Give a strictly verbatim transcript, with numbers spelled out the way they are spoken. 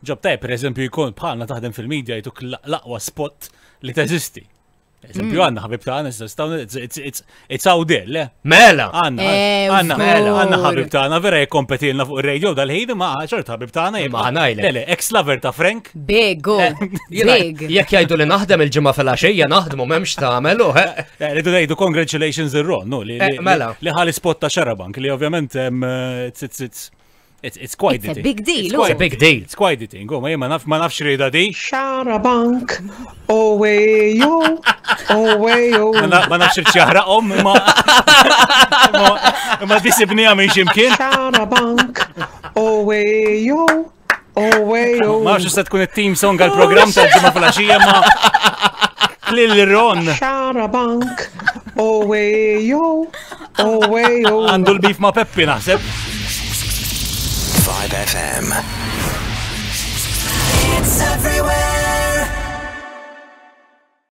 Job tajb, per eżempju, jkun bħalna taħdem fil-media jtuk l-aqwa spot li teżisti. Eżempju, għandna ħabib tagħna, it's, it's, it's, it's out there, le? Mela! Għandna, Eh, għandna, żgur. għandna ħabib tagħna vera jikkompetilna fuq ir-radio dal-ħin, ma ċert ħabib tagħna Ma ħa ngħidlek. Le, le, ex-lover ta' Frank. Big, go. Jiena, Big. jekk jgħidu li naħdem il-ġimgħa fil-għaxija naħdmu m'hemmx tagħmel u eh. Eh, Rridu ngħidu congratulations ir-Ron, no, li, Eh, li, mela. li ħali spot ta' Xarabank, li ovvjament em, it's, it's, it's, it's, it's quite It's the a thing. big deal, It's oh. quite It's a big deal. It's quite the thing. Oh, ma jien ma naf ma nafx rida di. Xarabank, oh way yo, oh way yo. Ma na- ma nafx irċjaħraqhom, imma imma- imma disibnija minn ximkien. Xarabank, oh way yo, oh way yo. Ma nafx se tkun it-theme song għal-programm tal-ġimgħa filgħaxija ma Lil Ron Xarabank, oh way yo, oh way yo. għandu l-beef ma' Peppi naħseb. five F M.